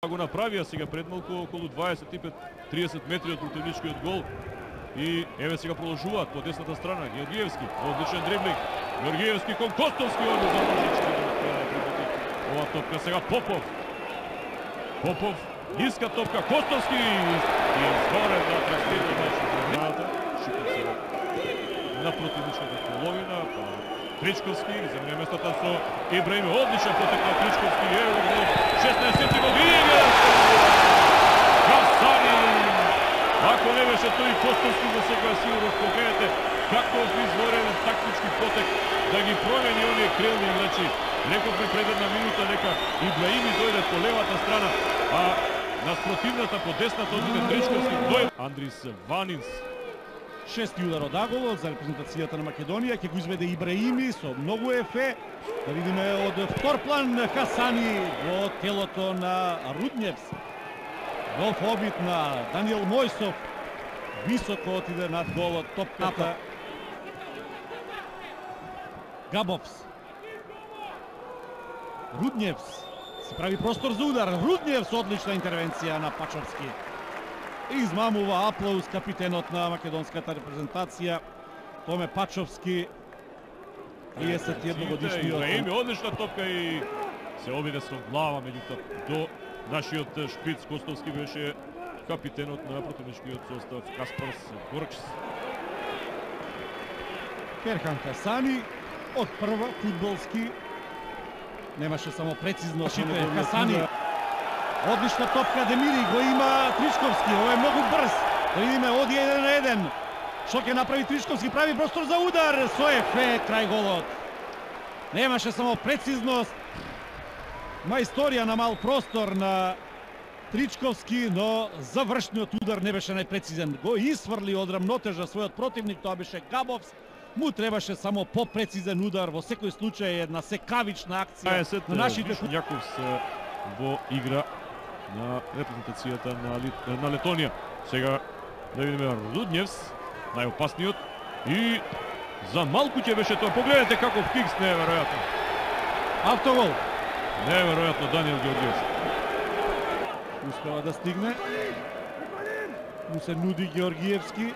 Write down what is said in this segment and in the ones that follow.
Го направија сега пред малку околу 25-30 метри од противничкиот гол. И еве сега продолжуваат по десната страна. Георгиевски, одличен дриблинг. Георгиевски кон Костовски, он за ножички ова топка сега Попов. Попов, ниска топка, Костовски и изворен на трактирно мачот. Шипов сега на противничката половина, Тричковски замена местото со Ибраими, одличен потек на Тричковски, ево гол, 16 години. Хасани! Ако не беше тој Костовски за сега сигурно погледнете каков изворен тактички потек да ги промени оние крилни играчи. Рековме пред една минута дека Ибраими дојде по левата страна, а на спротивната по десната одиде Тричковски. Андрис Ванинс. Шести удар од аголот за репрезентацијата на Македонија, ќе го изведе Ибраими со многу ефе. Да видиме од втор план Хасани во телото на Рудњевс. Голф обид на Даниел Мојсов. Високо отиде над голот топката. Габовс. Рудњевс се прави простор за удар. Рудњевс, одлична интервенција на Пачовски. Измамува аплауз капитенот на македонската репрезентација Томе Пачовски, 31 годишниот. Ибраими, одлична топка и се обиде со глава, меѓутоа до нашиот шпиц Костовски беше капитенот на противничкиот состав Каспарс Горчс. Ферхан Хасани од прва фудбалски немаше само прецизно шипе. Хасани, одлична топка, Демири го има Тричковски, ова е многу брз. Да видиме, оди 1-1. Што ќе направи Тричковски, прави простор за удар, со ефе крај голот. Немаше само прецизност, мајсторија на мал простор на Тричковски, но завршниот удар не беше најпрецизен. Го исфрли од рамнотежа својот противник, тоа беше Габовс. Му требаше само попрецизен удар, во секој случај една секавична акција на нашите. Јаковс во игра на репрезентацијата на Летонија. Сега да видиме Рудњевс, најопасниот, и за малку ќе беше тоа. Погледнете каков кикс, неверојатно. Автогол. Неверојатно Даниел Георгиевски. Успева да стигне. Му се нуди Георгиевски.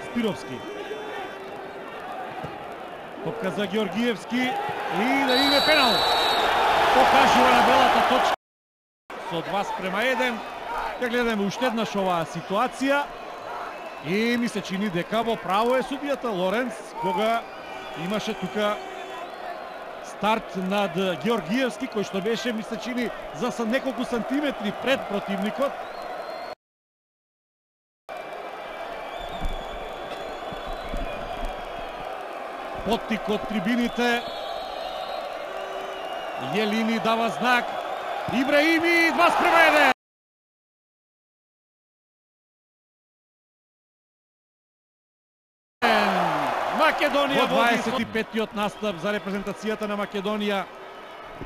Спировски. Топка за Георгиевски и да име пенал. Покажува на белата точка со 2:1. Ќе гледаме уште еднаш оваа ситуација и ми се чини дека во право е судијата Лоренц кога имаше тука старт над Георгиевски кој што беше, ми се чини, за неколку сантиметри пред противникот. Поттик од трибините. Јелини дава знак. Ибраими 2:1. Македонија во 25-тиот настап за репрезентацијата на Македонија.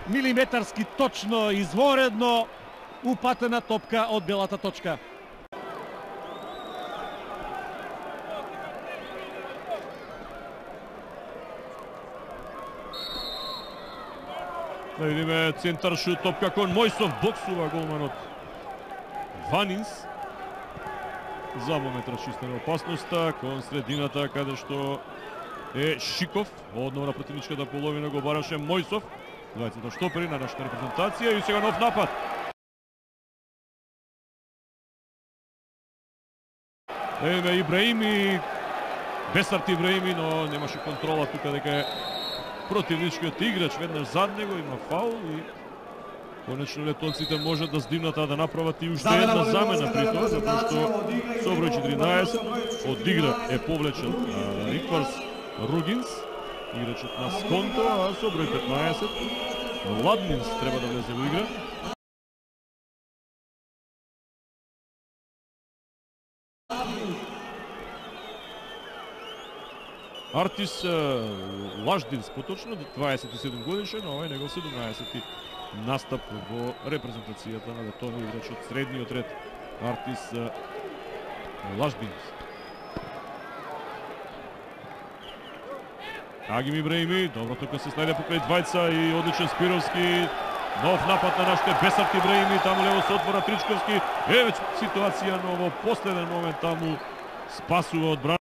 Милиметарски точно, изворедно упатена топка од белата точка. Да видиме центар шут, топка кон Мојсов, боксува голманот Ванинс. За момент расчистена опасноста кон средината каде што е Шиков. Одново на противничката половина го бараше Мојсов. Двајцата штопери на нашата репрезентација и сега нов напад. Еве Ибраими, Бесарт Ибраими, но немаше контрола тука дека е противничкиот играч веднаш зад него, има фаул и конечно летонците можат да здимнат, а да направат и уште една замена при тоа, затоа што со број 14 од игра е повлечен Рикварс Ругинс, играчот на Сконто, а со број 15 Ладминс треба да влезе во игра. Артис Лаждинс, поточно 27 годишен, ова е негов 17-ти настап во репрезентацијата на Летонија, играчот средниот ред Артис Лаждинс. Агим Ибраими, добро тука се снајде покрај двајца и одличен Спировски. Нов напад на нашите Бесарт Ибраими, таму лево се отвора Тричковски. Веќе ситуација, но во последен момент таму спасува одбраната.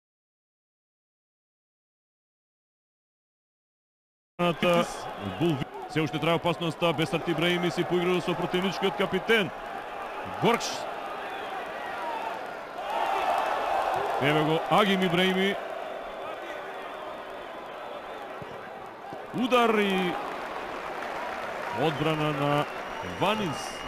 Се уште трае опасноста, Бесарт Ибраими си поиграл со противничкиот капитен Горкш. Еве го Агим Ибраими. Удар и одбрана на Ванинс.